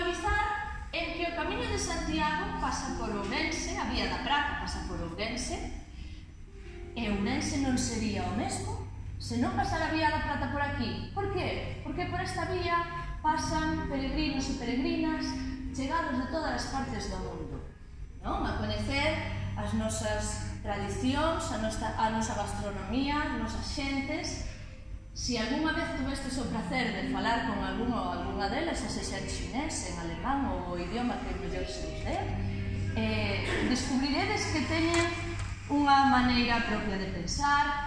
puntualizar en que o Camiño de Santiago pasa por Ourense, a Vía da Prata pasa por Ourense, e Ourense non sería o mesmo se non pasara a Vía da Prata por aquí. Por qué? Porque por esta vía pasan peregrinos e peregrinas chegados de todas as partes do mundo, non? A coñecer as nosas tradicións, a nosa gastronomía, as nosas xentes. Se algunha vez tuvestes o placer de falar con algún ou algunha delas, xa sexa en xinés, en alemán ou o idioma que mellor se os dé, descubriredes que teñen unha maneira propia de pensar,